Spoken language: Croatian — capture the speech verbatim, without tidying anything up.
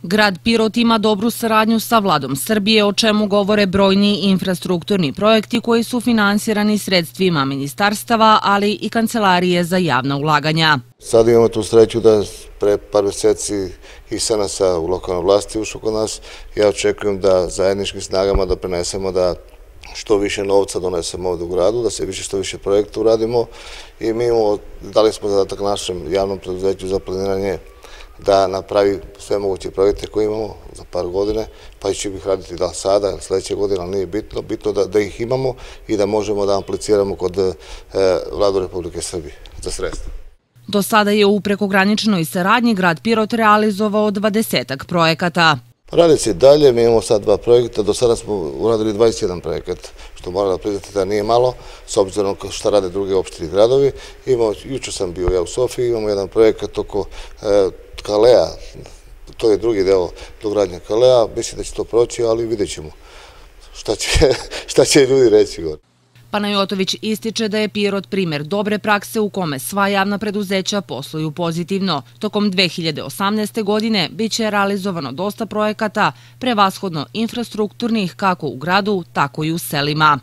Grad Pirot ima dobru saradnju sa Vladom Srbije, o čemu govore brojni infrastrukturni projekti koji su finansirani sredstvima ministarstava, ali i Kancelarije za javna ulaganja. Sad imamo tu sreću da pre par mjeseci i S N A S-a u lokalnoj vlasti ušao kod nas. Ja očekujem da zajedničkim snagama doprinesemo da što više novca donesemo ovdje u gradu, da se više što više projekta uradimo i mi imamo, dali smo zadatak našem javnom preduzeću za planiranje da napravi sve moguće projekte koje imamo za par godine, pa će ih raditi da sada ili sljedeće godine, ali nije bitno, bitno da, da ih imamo i da možemo da apliciramo kod e, Vladu Republike Srbije za sredstva. Do sada je u prekograničnoj saradnji grad Pirot realizovao dvadesetak projekata. Radi se dalje, mi imamo sad dva projekta, do sada smo uradili dvadeset jedan projekat, što moram da priznati da nije malo, s obzirom što rade druge opštine i gradovi. Imamo, jučer sam bio ja u Sofiji, imamo jedan projekat oko e, Kalea, to je drugi deo dogradnje Kalea, mislim da će to proći, ali vidjet ćemo šta će, šta će ljudi reći gore. Panajotović ističe da je Pirot primjer dobre prakse u kome sva javna preduzeća posluju pozitivno. Tokom dve hiljade osamnaeste. godine biće realizovano dosta projekata, prevashodno infrastrukturnih kako u gradu, tako i u selima.